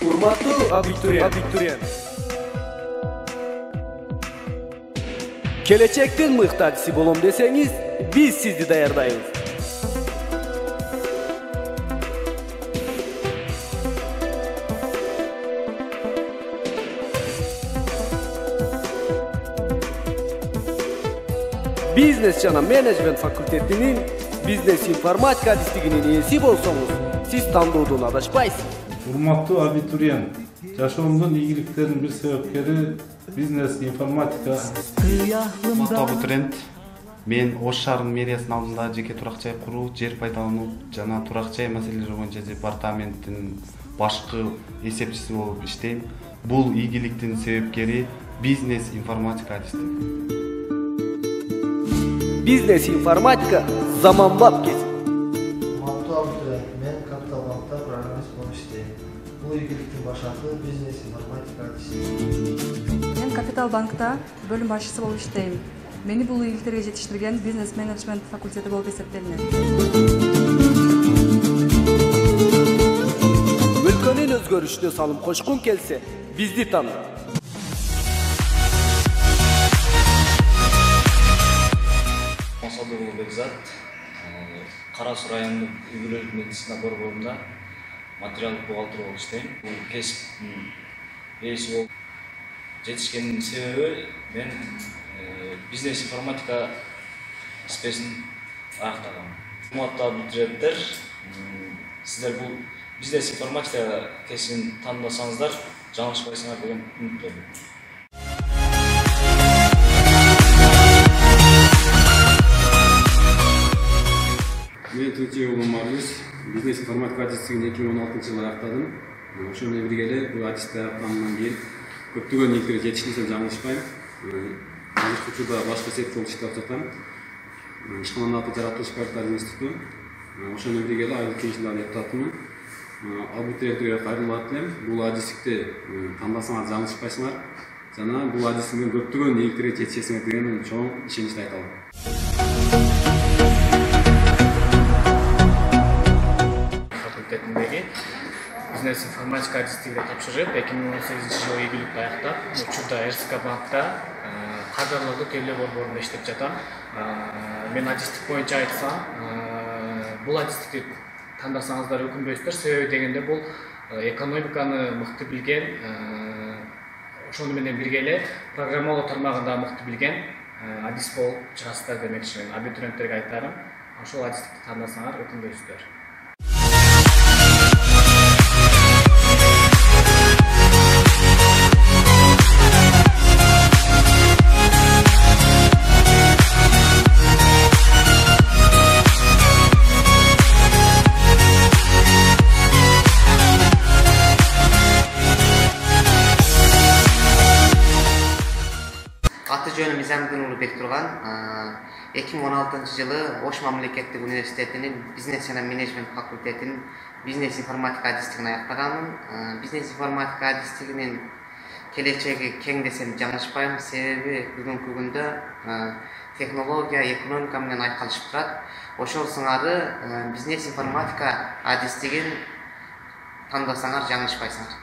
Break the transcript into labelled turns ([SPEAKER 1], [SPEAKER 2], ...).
[SPEAKER 1] Урматтуу абитуриент. Келечектин мыктачысы болом десеңиз, биз сизди даярдайбыз. Бизнес жана менеджмент факультетинин бизнес информатика адистигинин ээси болсоңуз, сиз тандоодон адашпайсыз.
[SPEAKER 2] Урматтуу абитуриент, жашоомдун ийгиликтеринин бир себепкери бизнес информатика.
[SPEAKER 3] Урматтуу абитуриент, мен Ош шаарынын мэриясынын алдында жеке турак жай куруу, жер пайдалануу жана турак жай маселелери боюнча департаменттин башкы эсепчиси болуп иштейм. Бул ийгиликтин себепкери бизнес информатика адистиги.
[SPEAKER 1] Бизнес информатика заманбап кесип.
[SPEAKER 4] Урматтуу абитуриент, мен Капитал банкта программист болуп иштейм. Бул ийгиликтин башаты бизнес информатика адистиги.
[SPEAKER 5] Мен Капитал банкта бөлүм башчысы болуп иштейм. Мени бул ийгиликтерге жетиштирген бизнес менеджмент факультети болуп эсептелинет.
[SPEAKER 1] Өлкөнүн өзгөрүшүнө салым кошкун келсе, бизди таны.
[SPEAKER 6] Бекзат, Кара Суу районундук үй-бүлөлүк медицина борборунда материалдык бухгалтер болуп иштейм. Бул кесиптин ээси болуп жетишкенин себеби мен бизнес информатика спесин аяктагам. Урматтуу абитуриенттер, сиздер бул бизнес информатика кесибин тандасаңыздар, жаңылышпайсыңар деген үмүттөмүн.
[SPEAKER 7] Мен Тынчыбек Омарбек бизнес информатика адистигин 2016-жылы аяктадым. Ошол менен бирге эле бул адисти аяктагандан кийин көптөгөн ийгиликтерге жетишкенсем жаңылышпайм. Азыркы учурда башкы сектор болуп иштеп жатам. Ишкананын аты Жаратылыш проекттер институту. Ошол менен бирге эле айлык кеңешинин депутатымын. Абитуриенттерге кайрылып атам. Бул адистикти тандасаңар жаңылышпайсыңар жана бул адистиктен көптөгөн ийгиликтерге жетишесиңер деген чоң ишеничти айта алам.
[SPEAKER 8] Бизнес информатика адистигине тапшырып, 2018-жылы ийгиликти аяктап, учурда РСК банкта кадрлардык төлөө борборунда иштеп жатам. Мен адистик боюнча айтсам, бул адистикти тандасаңыздар өкүнбөйсүздөр, себеби дегенде бул экономиканы мыкты билген, ошону менен бирге эле программалоо тармагында мыкты билген адист болуп чыгасыздар демекчимин. Абитуриенттерге айтарым, ошол адистикти тандасаңар өкүнбөйсүздөр.
[SPEAKER 9] Жөнүм Мизамдин уулу Бектурган, 2016-жылы Ош мамлекеттик университетинин бизнес жана менеджмент факультетинин бизнес информатика адистигин аяктаганмын. Бизнес информатика адистигинин келечеги кең десем жаңылышпайм, себеби бүгүнкү күндө технология, экономика менен айкалышып турат. Ошол сыңары бизнес информатика адистигин тандасаңар жаңылышпайсыңар.